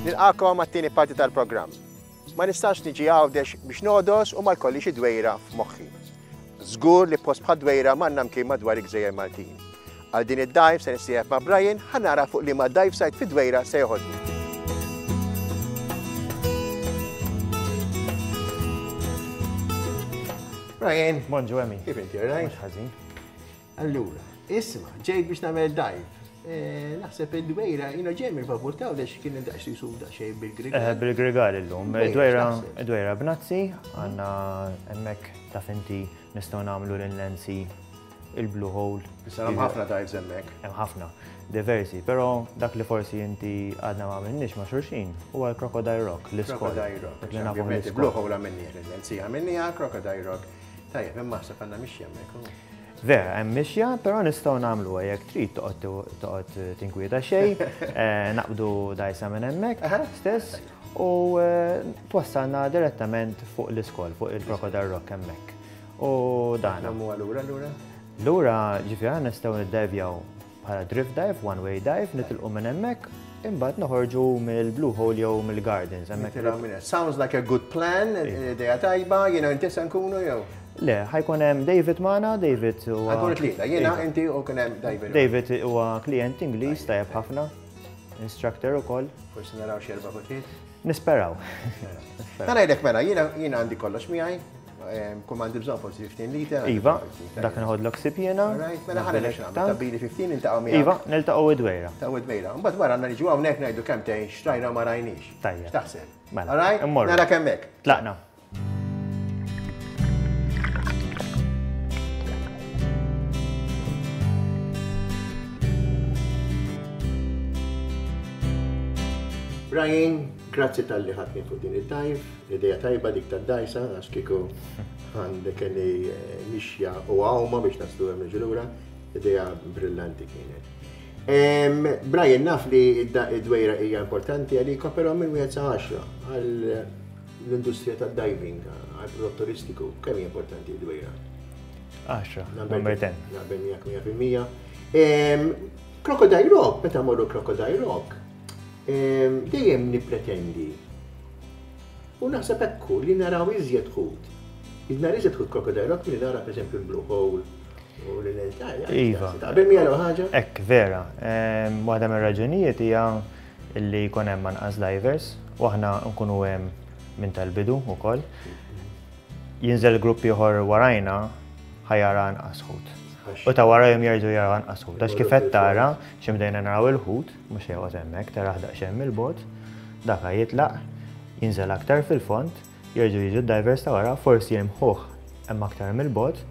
Nilqakom għat-tieni parti tal-programm. Ma nistax niġi Għawdex biex nogħdos u ma jkollix id-Dwejra f'moħħi. Żgur li post bħad-Dwejra m'għandna mkien madwar il-gżejjer Maltin. Għal din id-dive se nissieħeb ma' Brian ħa nara fuq liema dive site fid-Dwejra se joħodni. Brian. Bonġu Emi. Kif inti, right? Mhux ħażin. Allura, isma, ġejt biex nagħmel dive. Eh, naħseb id-dwejra, jina ġej mill-vapur ta' għax kien daqs jisu daqsxejn bil-grigal. Eh, bil-grigal illum. Dwejra, dwejra b'nazzi, għandna hemmhekk taf inti nistgħu nagħmlu l-Nancy il-Blue Hole. Issa hemm ħafna dives hemmhekk. Hemm ħafna, diversi, però dak li forsi inti għadna ma għamilniex ma' xulxin huwa l-Crocodile Rock, l-iskol. Crocodile Rock. Blue Hole għamilnieh, l-Nancy għamilniha, Crocodile Rock. Tajjeb, imma naħseb għandna mixja hemmhekk. Vera, hemm mixja, però nistgħu nagħmluha jekk trid toqgħod toqgħod tinkwieta xejn, eh, naqbdu dajsa minn hemmhekk stess u eh, twassalna direttament fuq l-iskol, fuq il-Crocodile Rock hemmhekk. U dan. Nagħmlu lura lura? Lura ġifieri nistgħu niddevjaw Bħala drift dive, one way dive, nitilqu minn hemmhekk, imbagħad noħorġu mill-Blue Hole jew mill-Gardens. Hemmhekk. Sounds like a good plan, idea tajba, jiena inti se nkunu jew? Le, ħajkun hemm David magħna, David huwa. Ħajkunu tlieta, jiena, inti u kien hemm David. David huwa klient Ingliż tajjeb ħafna, instructor ukoll. Forsi naraw xi erba' kotliet. Nisperaw. Ta' ngħidlek mela, jiena għandi kollox miegħi, Kull m'għandi bżonn forsi 15 liter. Iva, dak nħodlok sib jiena. Mela ħana nix nagħmel tabbili 15 niltaqgħu miegħek. Iva, niltaqgħu id-dwejra. Taqgħu id-dwejra. Mbagħad wara għandna niġu hawnhekk ngħidu kemm tgħin xtrajna u ma rajniex. Tajjeb. X'taħseb? Mela. All right? Nara kemm hekk. Tlaqna. Brian, grazzi tal-li ħadni fuq din id-dive. Idea tajba dik tad-dgħajsa għax kieku għandek kelli eh, mixja u għawma biex naslu hemm niġu lura. Idea brillanti kienet. Brian, naf li id-dwejra hija importanti għalikom, però minn wieħed sa 10 għal l-industrija tad-diving, għal prodott turistiku, kemm hija importanti d-dwejra? 10, number 10. Naqbel miegħek 100%. Crocodile Rock, meta morru Crocodile Rock, Dejjem nippretendi u naħseb hekk hu li naraw iżjed ħut. Nara iżjed ħut Crocodile Rock milli nara pereżempju l-Blue Hole u l-Entire. Iva. Taqbel miegħi l ħaġa? Hekk vera. Waħda mir-raġunijiet hija li jkun hemm anqas divers u aħna nkunu hemm minn tal-bidu wkoll. Jinżel grupp ieħor warajna ħa jara anqas ħut. U ta' warajhom jerġgħu jaraw anqas ħut. Għax kif qed tara, xi bdejna naraw il-ħut, mhux se joqgħod hemmhekk, tarah daqsxejn mill-bogħod, dak jitlaq, jinżel aktar fil-fond, jerġgħu jiġu d-divers ta' wara, forsi jilmħuh hemm aktar mill-bogħod,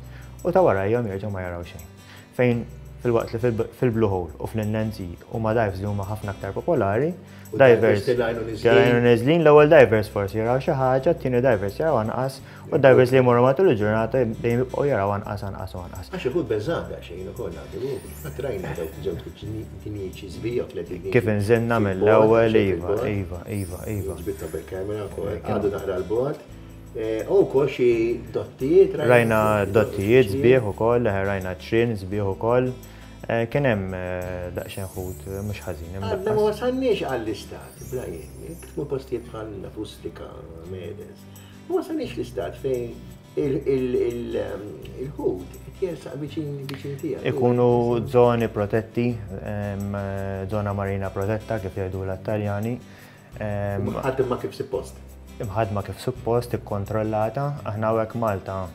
u ta' warajhom jerġgħu ma jaraw xejn. Fejn filwaqt li fil-Blue Hole u fl-Inland Sea huma dives li huma ħafna aktar popolari, divers telgħin u neżlin, l-ewwel divers forsi jaraw xi ħaġa, t-tieni divers jaraw anqas, u divers li jmorru matul il-ġurnata dejjem jibqgħu jaraw anqas anqas u anqas. Għax ikun beżgħan daqsxejn ukoll ngħidu, qatt rajna dawk żewġ dinjiċi sbieħ tliet dinjiċi. Kif inżilna mill-ewwel iva, iva, iva, iva. Ġbidthom bil-kamera wkoll, għadu naqra l-bogħod. Eh, u wkoll xi dottijiet. Rajna dottijiet sbieħ ukoll, eh, rajna ċrin sbieħ ukoll. Eh, kien hemm daqsxejn ħut mhux ħażin. Għadna ma wasalniex għall-istat, Brian, tkun postijiet bħal Nafustika, Medes. Ma wasalniex l-istat fejn il-ħut qed jersaq viċin viċin tiegħek. Ikunu żoni protetti, żona marina protetta kif jgħidu l-Taljani. Imħaddma kif suppost. Imħaddma kif suppost, ikkontrollata. Aħna hawnhekk Malta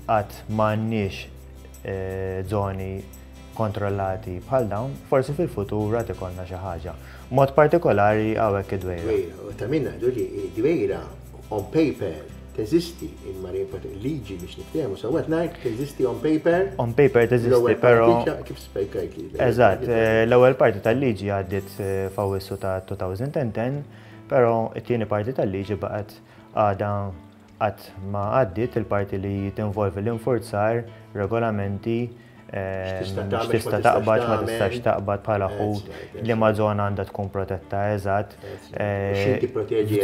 qatt m'għandniex eh, żoni kontrollati bħal dawn, forsi fil-futur għad ikollna xi ħaġa. Mod partikolari hawnhekk id-dwejra. Dwejra, u ta' min ngħidu li dwejra on paper teżisti il-Marine Protection liġi biex niftehmu sewwa qed ngħid teżisti on paper. On paper teżisti, però. Kif spjegajt li. Eżatt, eh, l-ewwel parti tal-liġi għaddiet eh, f'Awwissu ta' 2010, però it-tieni parti tal-liġi baqgħet għadha qatt ma għaddiet il-parti li tinvolvi l-infurzar, regolamenti, X'tista' taqbad, ma tistax taqbad bħala ħut, liema żona għandha tkun protetta eżatt. X'inti proteġi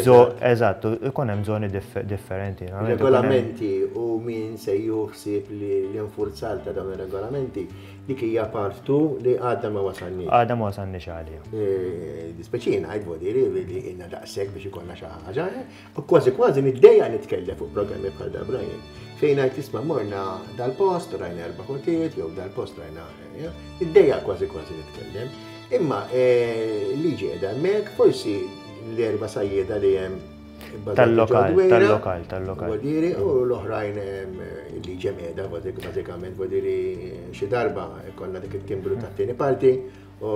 eżatt. Ikun hemm żoni differenti. Regolamenti u min se jieħu ħsieb li l-infurzar ta' dawn ir-regolamenti. Dik hija part 2 li għadna ma wasalniex. Għadna ma wasalniex għaliha. Dispeċina ngħid vodiri li ilna daqshekk biex ikollna xi ħaġa. U kważi kważi niddejja nitkellem fuq programmi bħal da Brian. Fejn ngħid isma' morna dal-post rajna erba' ħutiet jew dal-post rajna. Niddejja kważi kważi nitkellem. Imma liġi qiegħda hemmhekk, forsi l-erba' sajjieda li hemm Tal-lokal, tal-lokal, tal-lokal. Vodiri, u l-oħrajn li ġemeda, bażikament, vodiri xi darba konna dik it-timbru tat-tieni parti u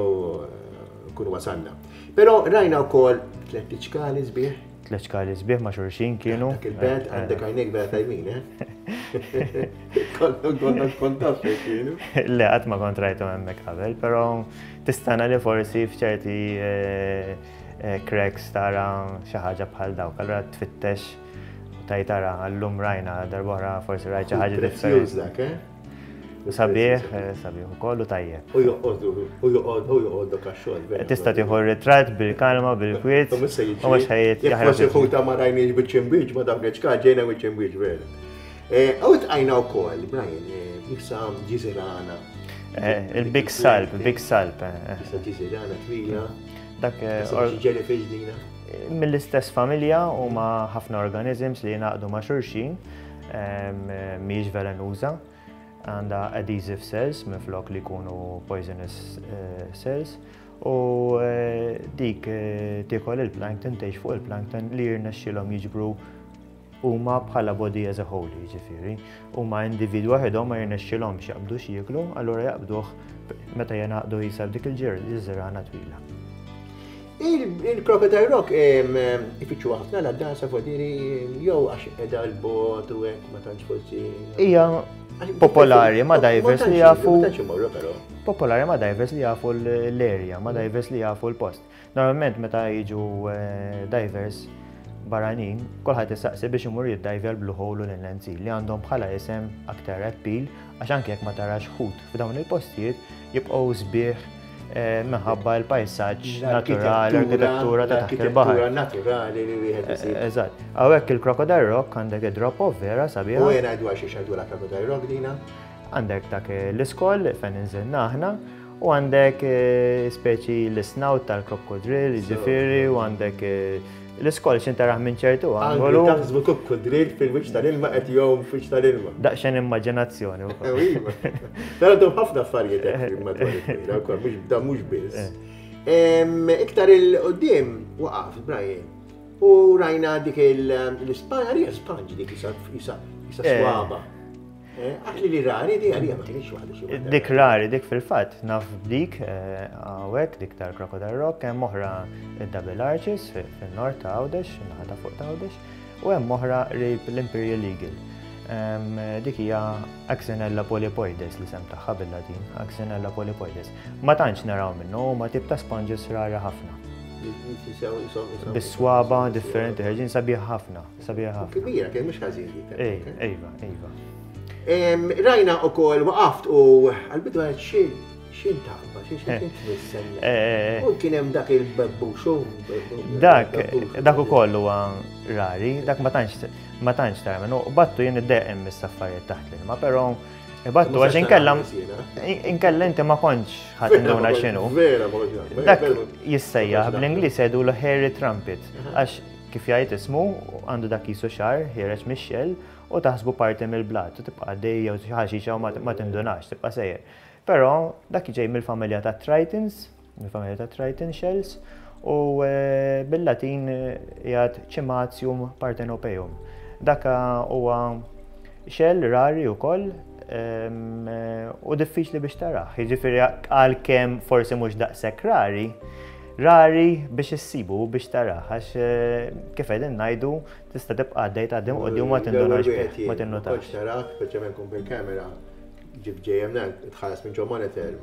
kunu wasalna. Però rajna wkoll tliet ċkali sbieħ. Tliet ċkali sbieħ ma' xulxin kienu. Dak il-bed għandek għajnejk vera tajbin, eh? Konna konna kont taf fejn kienu. Le, qatt ma kont rajthom hemmhekk qabel, però tistana li forsi f'ċerti cracks tara xi ħaġa bħal dawk. Allura tfittex u tajt tara għallum rajna darb'oħra forsi rajt xi ħaġa differenti. dak, eh? U sabiħ, sabiħ ukoll u tajjeb. U joqgħodu, u joqgħod, u joqgħodok għax-xogħol. Tista' tieħu ritratt bil-kalma, bil-kwiet. U mhux se jiġri. U mhux ħajjed. Jekk forsi ħuta ma rajniex biċ-ċimbiġ, ma dawk l-ċkal ġejna biċ-ċimbiġ vera. U tqajna wkoll, Brian, issa ġiżirana. Il-Big Salp, Big Salp. Issa ġiżirana twila. Dak jellyfish dina. Mill-istess familja huma ħafna organisms li jingħaqdu ma' xulxin, mhijiex velenuża, għandha adhesive cells minflok li jkunu poisonous cells u dik tiekol il-plankton, tgħix fuq il-plankton li jirnexxilhom jiġbru huma bħala body as a whole, jiġifieri, huma individwi waħedhom ma jirnexxilhomx jaqbdu x'jieklu, allura jaqbduh meta jingħaqdu jisa b'dik il-ġirana twila. Il-Crocodile Rock ifittxu ħafna la dansa fodiri jew għax qiegħda l-bot u hekk ma tantx forsi. Hija popolari ma' divers li jafu. Popolari ma' divers li jafu l-area, ma' divers li jafu l-post. Normalment meta jiġu divers barranin, kulħadd isaqsi biex imur jiddajvja l-Blue Hole u l-Inland Sea li għandhom bħala isem aktar appeal għax anke jekk ma tarax ħut f'dawn il-postijiet jibqgħu sbieħ minħabba l-pajsaġġ naturali, l-arkitettura ta' taħt il-baħar. Naturali li wieħed isib. Eżatt. Hawnhekk il-Crocodile Rock għandek id-drop off vera sabiħa. U jien ngħidu għal xiex ngħidulha Crocodile Rock dina? Għandek dak l-iskoll fejn inżilna aħna u għandek speċi l-snout tal-krokodrill, jiġifieri, u għandek l-iskoll x'in taraħ minn ċertu angolu. Taħsbu krokodrill fil-wiċċ tal-ilma qed jgħum fil-wiċċ tal-ilma. Daqsxejn immaġinazzjoni wkoll. Iva. Però għandhom ħafna affarijiet hekk madwar il-kbira wkoll, mhux da mhux biss. Iktar il-qudiem waqaf Brian u rajna dik l-ispanja, hija sponge dik isa swaba. Għax li rari di għalija ma kienx waħda xi waħda. Dik rari, dik fil-fatt, naf dik hawnhekk, dik tal-Crocodile Rock, hemm oħra Double Arches fin-nord ta' Għawdex, naħa ta' fuq ta' Għawdex, u hemm oħra qrib l-Imperial Eagle. Dik hija Axinella polypoides l-isem tagħha bil-Latin, Axinella polypoides. Ma tantx naraw minnu, huma tip ta' sponges rari ħafna. Bis-swaba differenti, ħerġin sabiħ ħafna. Sabiħa ħafna. Kbira, kien mhux ħażin dik. Ejva, ejva. Rajna ukoll waqaft u għal-bidu għal xi xin taqba, xi xi tmissel. Eh, eh, eh. U kien hemm dak il-bebbuxu. Dak, dak ukoll huwa rari, dak ma tantx ma tantx tara minnu. Battu jien iddeqem mis-saffarijiet taħt l-ilma, però battu għax inkella inkella inti ma kontx ħadd induna x'inhu. Vera, ma kontx. Dak jissejjaħ bl-Ingliż jgħidulu hairy trumpet għax Kif jgħid ismu, għandu dak qisu xagħar ħiereġ mix-xell u taħsbu parti mill-blat u tibqa' għaddej jew xi ħaxixa u ma tindunax, tibqa' sejjer. Però dak ġej mill-familja tat-tritons, mill-familja tat-triton shells, u bil-Latin jgħid Cimatium parthenopeum. Dak huwa shell rari wkoll u diffiċli biex tarah. Jiġifieri għalkemm forsi mhux daqshekk rari, Rari biex issibu u biex tarah, għax kif qegħdin ngħidu tista' tibqa' għaddej tgħaddi minn quddiem u ma tindunax bih, ma tinnutax. L-ewwel wieħed tarak, speċjalment kun bil-kamera, ġib ġejjem tħares minn ġo monitor,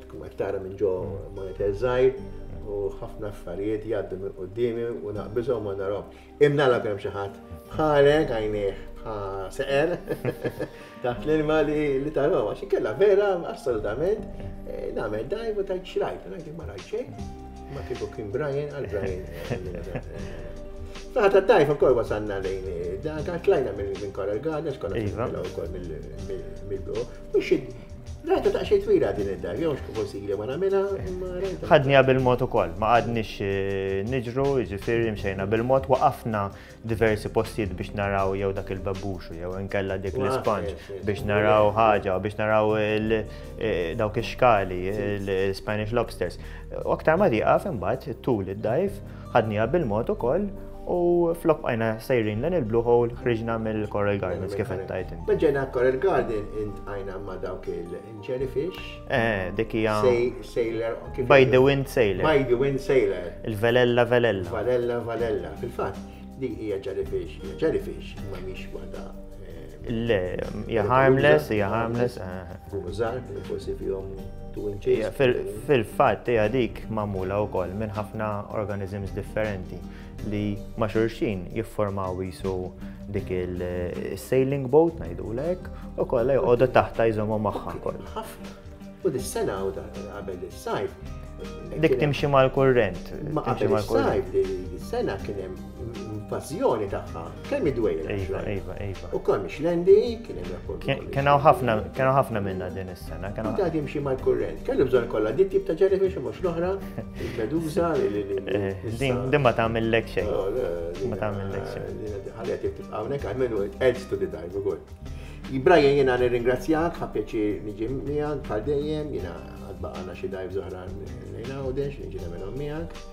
tkun qed tara minn ġo monitor żgħir u ħafna affarijiet jgħaddu minn quddiemi u naqbiżhom ma narahom. Imnalla kien hemm xi ħadd bħalek għajnejh bħal seqer taħt l-ilma li tarahom għax inkella vera assolutament eh, nagħmel dajv u tajt xrajt, ngħid ma rajt xejn, ma kieku kien Brian għal Brian. Naħa ta' dajf ukoll wasalna lejn eh, dak tlajna minn Coral Gardens, konna iva. ukoll mill-blu. Rajta daqsxejn twila din id-dar, jew x'kif forsi ili ma nagħmilha, imma rajta. Ħadniha bil-mod ukoll, ma qgħadniex eh, niġru, jiġifieri mxejna bil-mod, waqafna diversi postijiet biex naraw jew dak il-bebbuxu jew inkella dik l-isponge biex naraw ħaġa, biex naraw eh, dawk ix-xkali, il-Spanish lobsters. U aktar ma tieqaf imbagħad tul id-dajf ħadniha bil-mod ukoll u flok bqajna sejrin lejn il-Blue Hole ħriġna mill-Coral Gardens kif qed tgħid inti. Meta ġejna Coral Garden intqajna ma' dawk il-jellyfish. Eh, dik hija Sailor. By the Wind Sailor. By the Wind Sailor. Il-Velella Velella. Velella Velella. Fil-fatt, dik hija jellyfish, hija jellyfish, ma mhix waħda eh, Le, hija harmless, hija harmless. Eh. Kunu żgħar, forsi fihom 2 inches. Fil-fatt hija dik magħmula wkoll minn ħafna organisms differenti. li ma' xulxin jiffurmaw jisu dik il-sailing boat ngħidulek u kollha joqogħdu taħta jżommu magħha kollha. U dis-sena u qabel is-sajf. Dik timxi mal-kurrent. Ma qabel is-sajf dis-sena kien hemm invażjoni tagħha kemm id-dwejra. Iva, iva, iva. U kemm ix-lendi kien hemm rapport. Kien hawn ħafna, kien hawn ħafna minna din is-sena. Kien hawn timxi mal-kurrent. Kellu bżonn kollha dit tip ta' jellyfish mhux l-oħra. Il-medusa li eh, Din din ma tagħmillek xejn. Oh, ma tagħmillek xejn. Ħalli qed tibqa' hawnhekk għalmenu it adds to the dive ukoll. Brian jiena nirringrazzjak, ħa pjaċir niġi miegħek bħal dejjem, jiena għad baqgħana xi dive oħra lejn Għawdex, niġi nagħmelhom miegħek.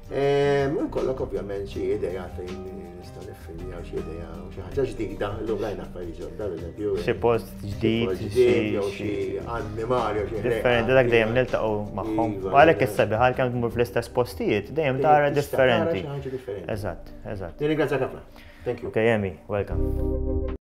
U kollok ovvjament xi idea fejn nista' niffilmjaw xi idea u xi ħaġa ġdida, llum rajna affarijiet ġodda, pereżempju. Xi post ġdid, jew xi annimali jew xi Differenti dak dejjem niltaqgħu magħhom. Iva, U għalhekk is-sabiħ għalkemm tmur fl-istess postijiet, dejjem tara differenti. Xi ħaġa differenti. Eżatt, eżatt. Nirringrazzjak ħafna. Thank you. Okay, Emi, welcome.